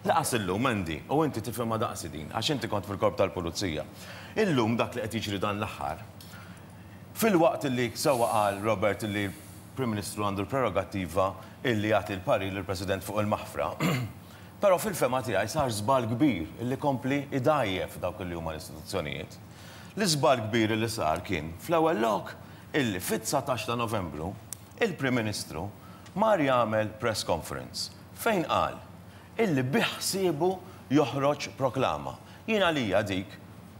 Lanqas illum, Andy, u inti tifhimha daqsi din, għax inti kont fil-Korp tal-Pulizija. Illum dak li qed jiġri dan l-aħħar, filwaqt illi sewwa qal Robert illi l-Prim Ministru għandu l-prerogattiva illi jagħti l-parir lill-President fuq il-maħfra, però fil-fehma tiegħi sar żball kbir illi kompli jdgħajjef dawk illi huma l-istituzzjonijiet. L-iżball kbir illi sar kien, fl-ewwel lok, illi fit-19 ta' Novembru, il-Prim Ministru mar jagħmel press conference fejn qal illi bi ħsiebu joħroġ proklama. Jien għalija dik,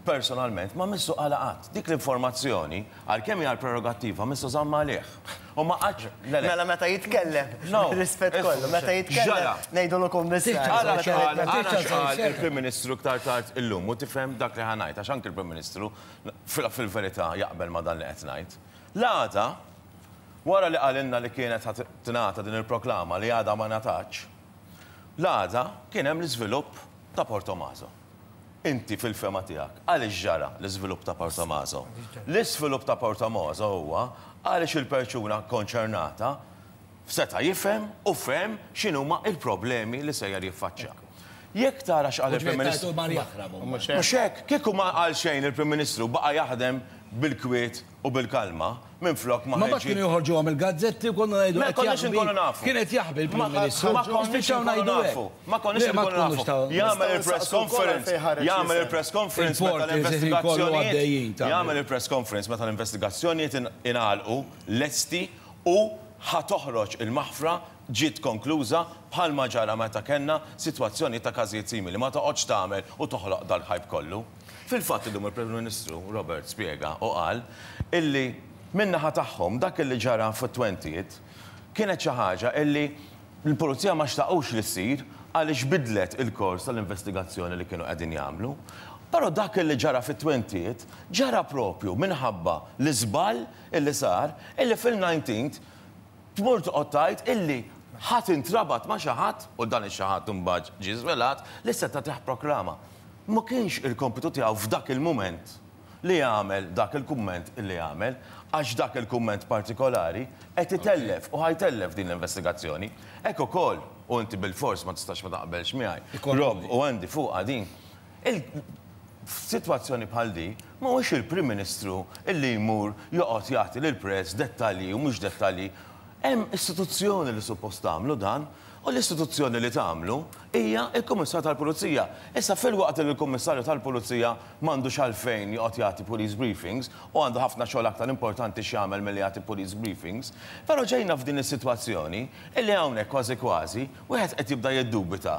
personalment, ma missu qalha qatt. Dik l-informazzjoni, għalkemm hija l-prerogattiva, missu żammha għalih. U ma qatx, le le. Mela meta jitkellem, No. bir-rispett kollu, meta jitkellem X'ġara? ngħidulu kummissarju. Ara x'qal, ara x'qal il-Prim Ministru iktar tard illum u tifhem dak li ħa ngħid għax anki l-Prim Ministru fil-verità jaqbel ma' dan li qed ngħid. L-għada, wara li qalilna li kienet ħa tingħata din il-proklama li għadha ma ngħatatx, L-għada kien hemm l-iżvilupp ta' Portomaso. Inti fil-fehma tiegħek, għaliex ġara l-iżvilupp ta' Portomaso? L-iżvilupp ta' Portomaso huwa għaliex il-perċuna kkonċernata seta' jifhem u fehem x'inhuma l-problemi li sejjer jiffaċċja. Jekk tara x'qal il-Prim Ministru. Mhux hekk? Kieku ma qal xejn il-Prim Ministru baqa' jaħdem bil-kwiet u bil-kalma, minflok ma Ma mbagħad ħeġġi. kienu joħorġuhom il-gazzetti u konna ngħidu Ma qed konniex jaħbi, inkunu nafu. kien qed jaħbi l-Prim Ma Ministru. ma konniex Spiċċaw inkunu ngħidu hekk. nafu. Ma konniex Le, ma inkunu tkunux nafu. ta' Jagħmel Nistgħu il-press nsaqsu wkoll conference, għalfejn ħareġ jagħmel l-isem. il-press conference meta Il-porti il-ħin kollu l-investigazzjonijiet, għaddejjin ta' jagħmel il-press conference meta l-investigazzjonijiet ingħalqu, lesti u ħa toħroġ il-maħfra ġiet konkluża bħalma ġara meta kellna sitwazzjonijiet ta' każijiet simili. Ma toqgħodx tagħmel u toħloq dal-hype kollu. Fil-fatt illum il-Prim Ministru Robert spjega u qal illi min-naħa tagħhom dak illi ġara fit-twentieth kienet xi ħaġa illi l-Pulizija ma xtaqux li ssir għaliex bidlet il-kors tal-investigazzjoni li kienu qegħdin jagħmlu. Però dak illi ġara fit-twentieth ġara propju minħabba l-iżball illi sar illi fil-nineteenth tmur toqgħod tgħid illi ħa tintrabat ma' xi ħadd u dan ix-xi ħadd imbagħad ġie żvelat li seta' tih proklama. Ma kienx il-kompitu tiegħu f'dak il-mument li jagħmel dak il-kumment li għamel, għax dak il-kumment partikolari qed itellef u ħa jtellef din l-investigazzjoni. Hekk ukoll, u inti bilfors ma tistax ma taqbelx miegħi, Rob u Andy fuqha din, il f'sitwazzjoni bħal di, mhuwiex il-Prim Ministru illi jmur joqgħod jagħti lill-press dettalji u mhux dettalji. Hemm istituzzjoni li suppost tagħmlu dan U l-istituzzjoni li tagħmlu hija l-Kummissarju tal-Pulizija. Issa filwaqt li l-Kummissarju tal-Pulizija m'għandux għalfejn joqgħod jagħti police briefings u għandu ħafna xogħol aktar importanti x'jagħmel milli jagħti police briefings, però ġejna f'din is-sitwazzjoni illi hawnhekk kważi kważi wieħed qed jibda jiddubita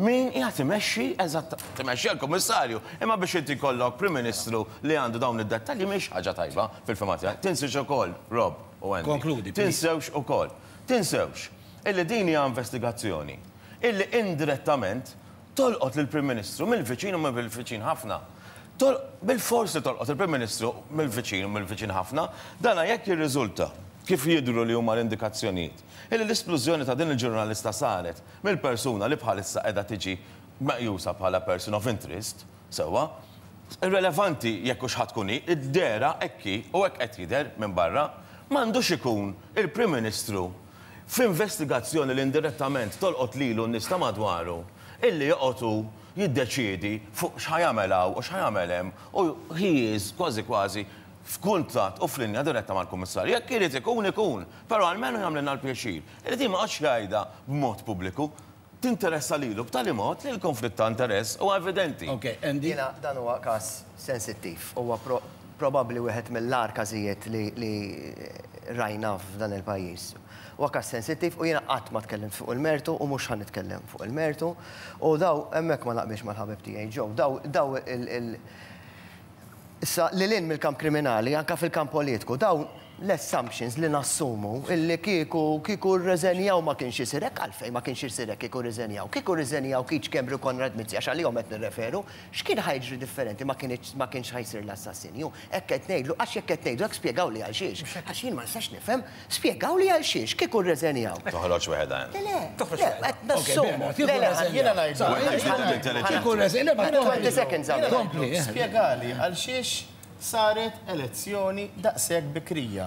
min qiegħed imexxi eżatt, imexxi l-Kummissarju, imma biex inti jkollok Prim Ministru li għandu dawn id-dettalji mhix ħaġa tajba fil-fehma tiegħi. Tinsiex ukoll, Rob u Andy, Konkludi, please. tinsewx ukoll, tinsewx illi din hija investigazzjoni illi indirettament tolqot lill-Prim Ministru mill-viċin u mill-viċin ħafna. Bilfors li tolqot il-Prim Ministru mill-viċin u mill-viċin ħafna, dana jekk jirriżulta, kif jidhru li huma l-indikazzjonijiet, illi l-isplużjoni ta' din il-ġurnalista saret mill-persuna li bħalissa qiegħda tiġi meqjusa bħala person of interest, sewwa, irrelevanti jekk hux ħa tkun hi, id-dehra hekk hi u hekk qed jidher minn barra, m'għandux ikun il-Prim Ministru f'investigazzjoni li indirettament tolqot lilu u n-nies ta' madwaru, illi joqgħod hu jiddeċiedi fuq x'ħa jagħmel hawn u x'ħa jagħmel hemm u he is kważi kważi f'kuntatt u f'linja diretta mal-Kummissarju. Jekk irid ikun, ikun, però almenu jagħmlilna l-pjaċir illi din ma joqgħodx jgħidha b'mod pubbliku. Tinteressa lilu b'tali mod li l-konflitt ta' interess huwa evidenti. Ok, Andy? Jiena dan huwa każ sensittiv. Huwa probabbli wieħed mill-agħar każijiet li li rajna f'dan il-pajjiż. Huwa każ sensittiv u jiena qatt ma tkellimt fuq il-mertu u mhux ħa nitkellem fuq il-mertu. U daw hemmhekk ma naqbilx mal-ħabib tiegħi Joe. Daw daw il Issa, lil hinn mill-kamp kriminali, anke fil-kamp politiku, dawn l-assumptions li nassumu illi kieku kieku rreżenjaw ma kienx isir hekk, għalfejn ma kienx isir hekk kieku rriżenjaw? Kieku rriżenjaw Keith Schembri u Konrad Mizzi, għax għalihom qed nirreferu, x'kien ħa jiġri differenti ma kinitx ma kienx ħa jsir l-assassinju? Hekk qed ngħidlu għax jekk qed ngħidu hekk spjegawli għalxiex. Għax jien ma nistax nifhem Spjegawli għal xiex, kieku rreżenjaw. Toħroġ weħedha int. Le, le, le, qed nassumu. Le, le, Jiena ngħidlu. Kieku rreżenjaw. 20 seconds għamel. Kompli. Spjegali għal xiex saret elezzjoni daqshekk bikrija.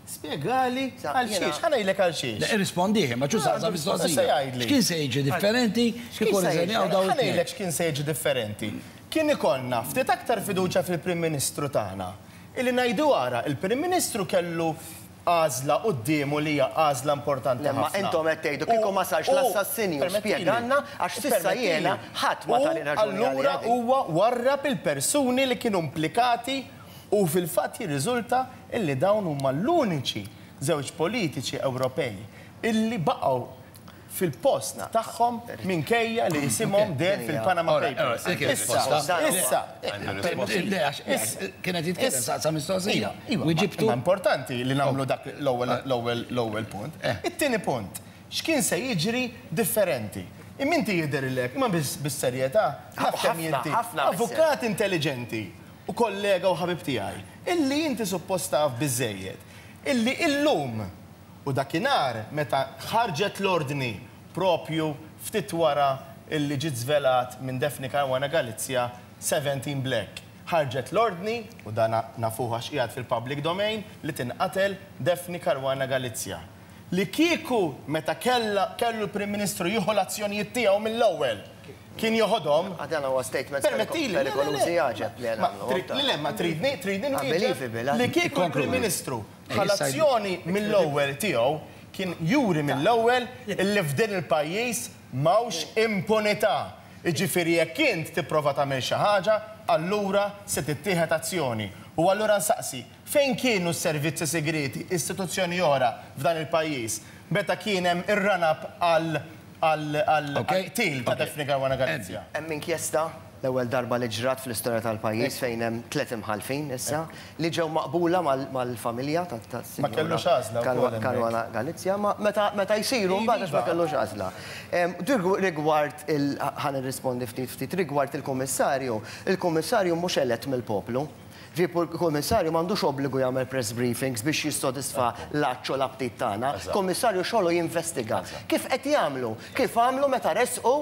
Spjegali għal xiex, ħa ngħidlek għal xiex. Le, irrispondih, imma ċu saqsa mistoqsija. X'kien se jiġi differenti kieku rriżenjaw dawn Ħa ngħidlek x'kien se jiġi differenti. Kien ikollna ftit aktar fiduċja fil-Prim Ministru tagħna. Illi ngħidu ara, il-Prim Ministru kellu għażla quddiemu li hija għażla importanti Le, ma ħafna. intom qed tgħidu kieku ma sarx l-assassinju, spjegalna għax s'issa jiena ħadd ma tani raġuni għaliha din. U allura huwa warrab il-persuni li kienu implikati U fil-fatt jirriżulta illi dawn huma l-uniċi żewġ politiċi Ewropej illi baqgħu fil-post tagħhom minkejja li isimhom deher fil-Panama Papers. Issa, issa. Le, għax kien qed jitkellem saqsa mistoqsija. Wieġibtu. Imma importanti li nagħmlu dak l-ewwel l-ewwel punt. It-tieni punt, x'kien se jiġri differenti? Imma inti jidhirlek, imma bis-serjetà, naf kemm inti avukat intelliġenti u kollega u ħabib tiegħi, illi inti suppost taf biżżejjed illi illum u dakinhar meta ħarġet l-ordni propju ftit wara illi ġiet żvelat minn Daphne Caruana Galizia 17 Black ħarġet l-ordni, u dan nafuh għax qiegħed fil-public domain, li tinqatel Daphne Caruana Galizia. Li kieku meta kellha kellu l-Prim Ministru jieħu l-azzjonijiet tiegħu mill-ewwel kien joħodhom. Ah, dan huwa statements Permettili, le, le, le. perikolużi għaġeb li Ma nagħmlu. trid, le, le, ma tridni, tridni nwieġeb Unbelievable, li kieku l-Prim Ministru ħa l-azzjoni mill-ewwel tiegħu kien juri mill-ewwel illi f'din il-pajjiż m'hawnx impunità. Jiġifieri jekk int tipprova tagħmel xi ħaġa, allura se tittieħed azzjoni. U allura nsaqsi, Fejn kienu s-servizzi sigrieti, istituzzjoni oħra f'dan il-pajjiż, meta kien hemm ir-run-up għall-qtil ta' Daphne Caruana Galizia? Hemm inkjesta, l-ewwel darba li ġrat fl-istorja tal-pajjiż fejn hemm tliet imħallfin issa li ġew maqbula mal-familja tas-Sinjura Caruana Galizia. Ma meta jsiru mbagħad għax ma kellux għażla. Rigward il, ħa nirrispondi ftit ftit, rigward il-Kummissarju, il-Kummissarju mhux elett mill-poplu. Ġifieri il-Kummissarju m'għandux obbligu jagħmel press briefings biex jissodisfa l-għatx u l-aptit tagħna. Kummissarju xogħlu jinvestiga. Kif qed jagħmlu? Kif għamlu meta ressqu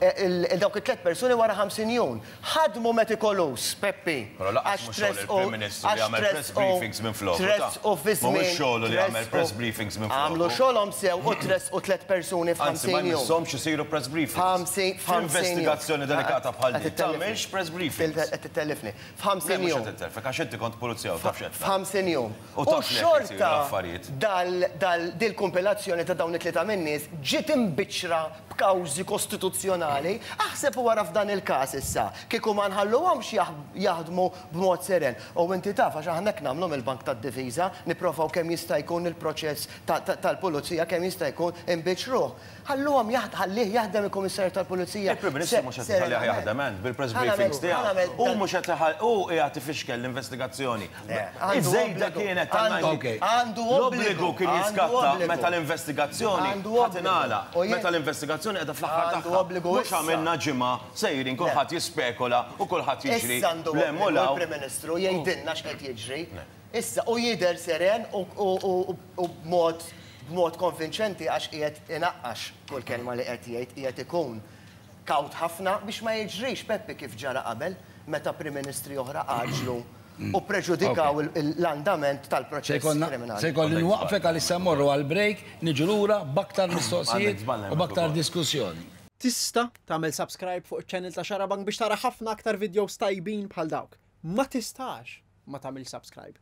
dawk it-tliet persuni wara 50 jum. Ħadmu metikolus, Peppi. Però lanqas mhux xogħol il-Prim Ministru li jagħmel press briefings minfloku, ta'. Tressqu fi żmien. Mhuwiex xogħlu li jagħmel press briefings minfloku. Għamlu xogħolhom sew u tressqu tliet persuni f'50 jum. Anzi, ma jmisshomx isiru press briefings. F'investigazzjoni delikata bħal din, tagħmilx press briefings. Qed ittellifni. F'ħamsin Le, mhux jum. qed intelfek, għax inti kont pulizija u taf x'qed tgħid. F'ħamsin jum. U U taf li hekk isiru xorta l-affarijiet. dal, dal, dil-kumpilazzjoni ta' dawn it-tlieta min-nies ġiet imbiċċra b'kawżi kostituzzjonali. Aħseb u ara f'dan il-każ issa, kieku ma nħalluhomx jaħdmu b'mod seren. U inti taf għax aħna hekk nagħmlu mill-Bank tad-Difiża, nipprovaw kemm jista' jkun il-proċess ta', ta', tal-pulizija kemm jista' jkun imbiċċruh. Ħalluhom jaħd, ħallih jaħdem il-Kummissarju tal-Pulizija. Il-Prim Ministru mhux qed iħallih jaħdem ent bil-press briefings tiegħu. Hu mhux qed iħall, hu qiegħed ifixkel l-investigazzjoni. Iż-żejda kienet tal-90. Għandu L-obbligu kien jiskatta meta l-investigazzjoni ħa tingħalaq. Meta l-investigazzjoni qiegħda fl-aħħar tagħha. Mhux għamilna ġimgħa sejrin kulħadd jispekola u kulħadd jiġri Issa għandu 'l hemm u obbligu 'l hawn. l-Prim Ministru jgħidilna x'qed jiġri. Issa, u jidher seren u b'mod b'mod konvinċenti għax qiegħed inaqqax kull kelma li qed jgħid, qiegħed ikun kawt ħafna biex ma jiġrix, Peppi, kif ġara qabel meta Prim Ministri oħra għaġġlu u ppreġudikaw l-andament tal-proċess kriminali. Se jkolli nwaqqfek għalissa mmorru għal break, niġu lura b'aktar mistoqsijiet u b'aktar diskussjoni. Tista' tagħmel subscribe fuq iċ-channel ta' Xarabank biex tara ħafna aktar videos tajbin bħal dawk. Ma tistax ma tagħmilx subscribe.